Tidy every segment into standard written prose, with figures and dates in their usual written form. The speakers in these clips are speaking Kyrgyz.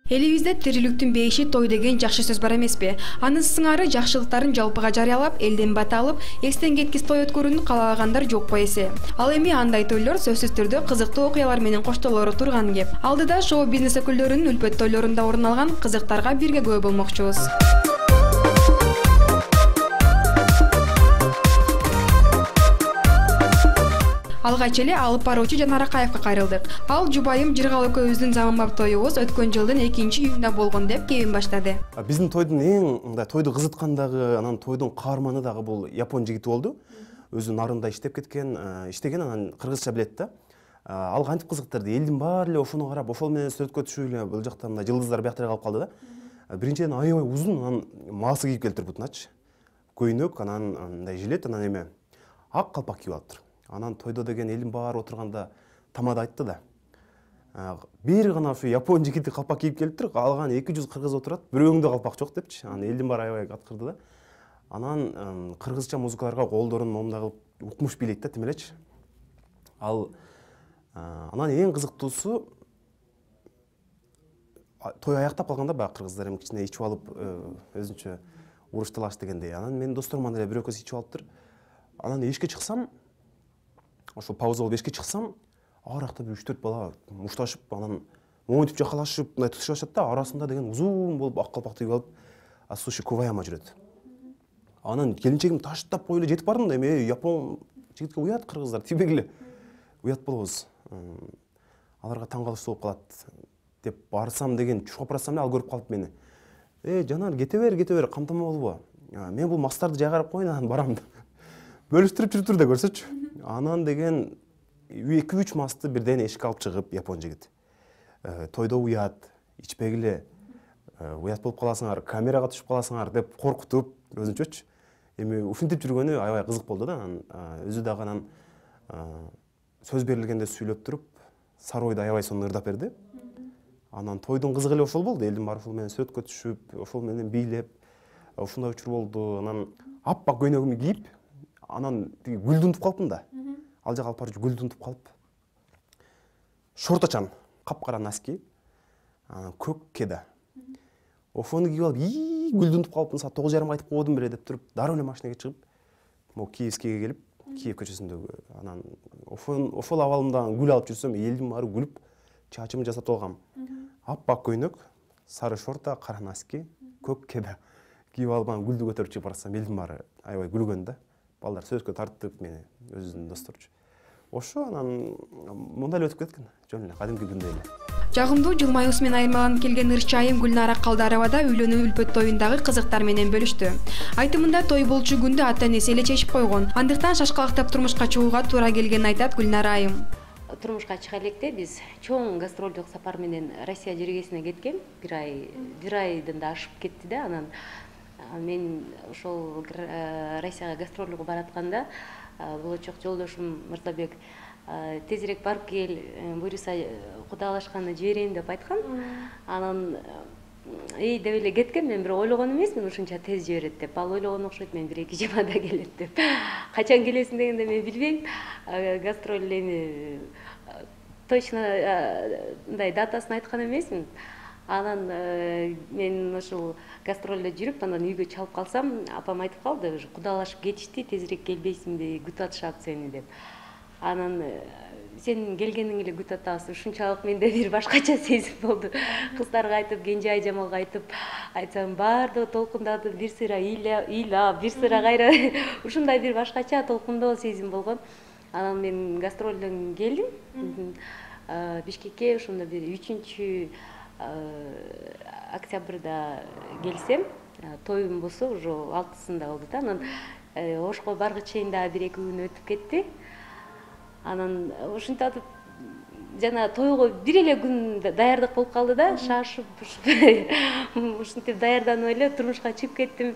Элибизде тириликтин бейиши той деген жакшы сөз бар эмеспи? Анын сыңары жакшылыктарын жалпыга жарыялап, элден бата алып, эстен кеткис той өткөрүүнү каалагандар жокпу эсе. Ал эми андай тойлор сөзсүз түрдө кызыктуу окуялар менен коштолору турган кеп. Алдыда шоу-бизнес өкүлдөрүнүн үлпөт тойлорунда орун алган кызыктарга бирге күбө болмокчубуз. Алгач эле алып баруучу Жанар Акаевга кайрылдык. Ал жубайым Жыргал экөөбүздүн заманбап тоюбуз өткөн жылдын 2-июнунда болгон деп кебин баштады. Биздин тойдун эң тойду кызыткан дагы, анан тойдун каарманы дагы бул япон жигити болду. Өзү нарында иштеген, анан кыргызча билет да. Ал кантип кызыктырды. Элдин баары эле ошону карап, ошол менен сүрөткө түшүп эле бул жакта мындай жылдыздар бияктар калып калды да. Биринчиден аябай узун, анан маасы кийип келиптир бутуначы. Көйнөк, анан мындай жилет, анан эме ак калпак кийип алыптыр. Анан тойдо деген элдин баары отурганда тамада айтты да. Бир гана ушу япон жигити калпак кийип келиптир, калган 200 кыргыз отурат, бирөөңдө калпак жок депчи. Анан элдин баары аябай аткырды да. Анан кыргызча музыкаларга колдорун момундай кылып укмуш бийлейт да, тим элечи. Анан эң кызыктуусу той аяктап калганда баягы кыргыздар эми кичине ичип алып, өзүнчө уруш талаш дегендей. Анан менин досторум анда эле бирөө көз ичип алыптыр. Анан эшикке чыксам, ошол пауза болуп эшикке чыксам, ар жакта бир 3-4 бала мушташып, анан монтип жакалашып, мындай тутушуп да, арасында деген узун болуп ак калпак тигип алып, Асуши Куваяма жүрөт. Анан келинчегим таштап коюп эле жетип бардым да, эми япон жигитке уят кыргыздар тийбегиле. Уят болобуз. Аларга таң калыштуу болуп калат деп барсам деген чуркап барсам эле ал көрүп калып мени. Жанар, кете бер, камтама болбо. Мен бул мастарды жайгарып коеюн, анан барам деп. Бөлүштүрүп жүрүптүр да, көрсөчү. Анан деген 2-3 масты бирден эшикке алып чыгып япон жигит. Тойдо уят, ичпегиле, уят болуп каласыңар, камерага түшүп каласыңар деп коркутуп, өзүнчөчү. Эми ушинтип жүргөнү аябай кызык болду да. Өзү дагы анан сөз берилгенде сүйлөп туруп, саройду аябай сонун ырдап берди. Анан тойдун кызыгы эле ошол болду. Элдин баары ошол менен сүрөткө түшүп, ошол менен бийлеп, ушундай учур болду. Анан аппак көйнөгүмдү кийип, анан тиги гүлдү унутуп калыптым да. Ал жака алып барып гүлдү унутуп калып. Шорточан, капкара носки, көк кеда. Ошону кийип алып, гүлдү унутуп калыптым, саат 9:30 айтып койдум беле деп туруп, дароо эле машинеге чыгып, могу Киевскийге келип, Киев көчөсүндөгү, анан ошол абалымда гүл алып жүрсөм, элдин баары күлүп, чачымды жасатып алгам. Аппак көйнөк, сары шорта, кара носки, көк кеда кийип алып, анан гүлдү көтөрүп чыгып барсам, элдин баары аябай күлгөн да. Балдар сөзгө тартып мени, өзүнүн досторчу. Ошо анан мындай эле өтүп кеткен. Жөн эле кадимки күндөй эле. Жагымдуу жылмаюусу менен айырмаланып келген ырчайым Гүлнара Калдарова да үйлөнүү үлпөт тоюндагы кызыктар менен бөлүштү. Айтымында той болчу күндү ата-энеси эле чечип койгон. Андыктан шашкалактап турмушка чыгууга туура келгенин айтат Гүлнара айым. Турмушка чыга электе биз чоң гастролдук сапар менен Россия жергесине кеткен. Бир айдан да ашып кетти да. Анан мен ошол Россияга гастролго баратканда болочок жолдошум Мырзабек тезирээк барып кел, буюрса кудалашканы жиберейин деп айткан. Анан деп эле кеткен, мен бирок ойлогон эмесмин ушунча тез жиберет деп. Ал ойлогон окшойт, мен 1-2 жумада келет деп. Качан келесиң дегенде мен билбейм. Гастроль эми точно мындай датасын айткан эмесмин. Анан мен ошол гастролдо жүрүп, анан үйгө чалып калсам, апам айтып калды, кудалашып кетишти, тезирээк келбейсиңби, күтүп атышат сени деп. Анан сен келгениң эле күтүп атабыз. Ушунчалык менде бир башкача сезим болду. Кыздарга айтып, Кенже айжамалга айтсам, баардыгы толкундатып, бир сыйра ыйлап, бир сыйра кайра ушундай бир башкача толкундоо сезим болгон. Анан мен гастролдон келдим. Бишкекке ошондо бир 3 октябрда келсем, тоюм болсо уже 6-сында болду да. Анан ошко баргыч чейин дагы 1-2 күн өтүп кетти. Анан ушинтип жана тойго бир эле күн даярдык болуп калды да, шашып ушинтип даярданып эле турмушка чыгып кеттим.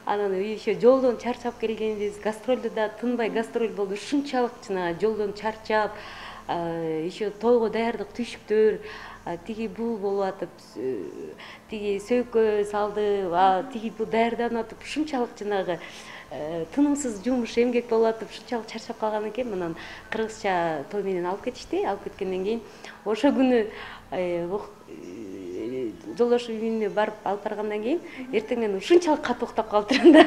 Анан еще жолдон чарчап келгенбиз, гастролдо да тынбай гастроль болду. Ушунчалык жана жолдон чарчап, еще тойго даярдык түйшүктөр, тиги бул болуп атып, тиги сөйкө салды, тиги бул даярданып атып, ушунчалык жанагы тынымсыз жумуш эмгек болуп атып ушунчалык чарчап калган экен. Анан кыргызча той менен алып кетишти. Алып кеткенден кийин ошо күнү жолдошум үйүнө барып алып баргандан кийин эртең менен ушунчалык катуу уктап калыптырмын да.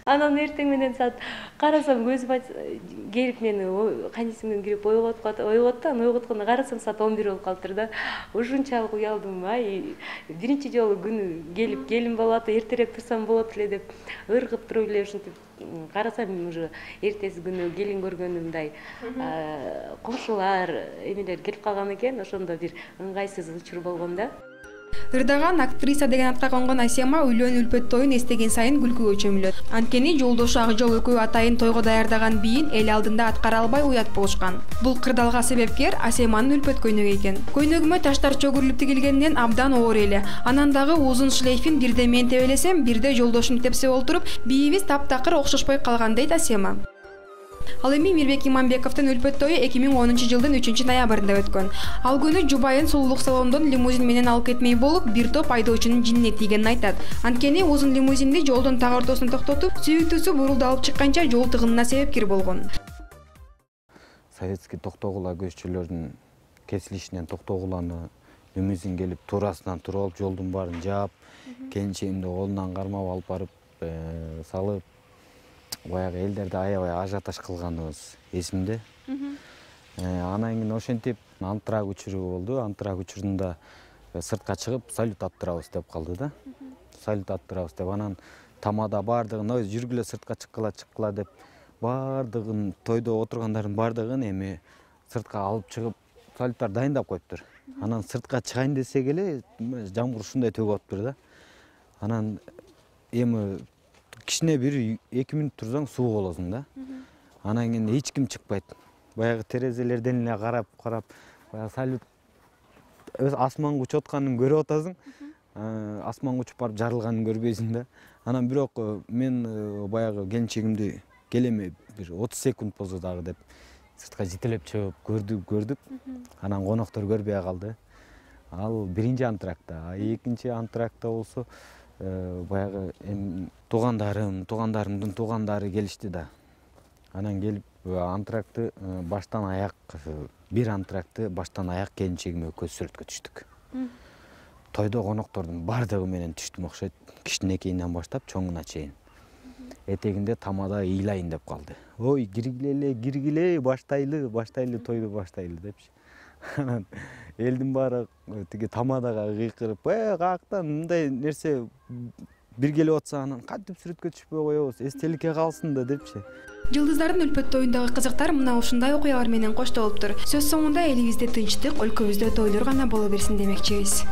Анан эртең менен саат карасам көзүм келип мени кайнесиңден кирип ойготту. Анан ойготкондо карасам саат 11 болуп калыптыр да. Ушунчалык уялдым. Биринчи жолу күнү келип келин болуп атып, эртерээк турсам болот эле деп ыргып туруп эле ушинтип карасам уже эртеси күнү келин көргөнүмдай кошулар эмелер келип калган экен. Ошондо бир ыңгайсыз учур болгон да. Ырдаган актриса деген атка конгон Асема үйлөн үлпөт тоюн эстеген сайын күлкүгө чөмүлөт. Анткени жолдошу ак жол экөө атайын тойго даярдаган бийин эл алдында аткара албай уят болушкан. Бул кырдаалга себепкер Асеманын үлпөт көйнөгү экен. Көйнөгүмө таштар чөгүрүлүп тигилгенден абдан оор эле. Анан дагы узун шлейфин бирде мен тебелесем, бирде жолдошум тепсе олтуруп, бийибиз таптакыр окшошпой калган дейт Асема. Ал эми Мирбек Иманбековдун үлпөт тою 2010-жылдын 3-ноябрында өткөн. Ал күнү жубайын сулуулук салондон лимузин менен алып кетмей болуп, бир топ айдоочунун жинине тийгенин айтат. Анткени узун лимузинди жолдун так ортосуна токтотуп, сүйүктүүсү бурулду алып чыкканча жол тыгынына себепкер болгон. Советский токтогула көччүлөрдүн кесилишинен токтогуланы лимузин келип туурасынан туруп алып, жолдун баарын жаап, келинчегимди колунан кармап алып барып салып, баягы элдерди аябай ажиотаж кылганыбыз эсимде. Анан кийин ошентип антрак учуру болду. Антрак учурунда сыртка чыгып салют аттырабыз деп калды да. Салют аттырабыз деп анан тамада баардыгын жүргүлө сыртка чыккыла деп баардыгын тойдо отургандардын баардыгын эми сыртка алып чыгып салюттар дайындап коюптур. Анан сыртка чыгайын десек эле жамгыр ушундай төгүп атыптыр да. Анан эми кичине бир 2 мүнөт турсаң суу болосуң да. Анан кийин эч ким чыкпайт. Баягы терезелерден эле карап, баягы салют асманга учуп атканын көрүп атасың. Асманга учуп барып жарылганын көрбөйсүң да. Анан бирок мен баягы келинчегимди келеме бир 30 секунд болсо дагы деп сыртка жетелеп чыгып көрдүк. Анан коноктор көрбөй калды. Ал биринчи антракта, экинчи антракта болсо баягы туугандарымдын туугандары келишти да. Анан келип антракты баштан аяк, бир антракты баштан аяк келинчегиме көз сүрөткө түштүк. Тойдо коноктордун баардыгы менен түштүм окшойт. Кичинекейинен баштап чоңуна чейин. Этегинде тамада ыйлайын деп калды. Ой, киргиле, баштайлы тойду баштайлы депчи. Анан элдин баары тиги тамадага кыйкырып, каяктан мындай нерсе бир келип атса анан кантип сүрөткө түшпөй коебуз, эстеликке калсын да депчи. Жылдыздардын үлпөт тоюндагы кызыктар мына ушундай окуялар менен коштолуптур. Сөз соңунда элибизде тынчтык, өлкөбүздө тойлор гана боло берсин демекчибиз.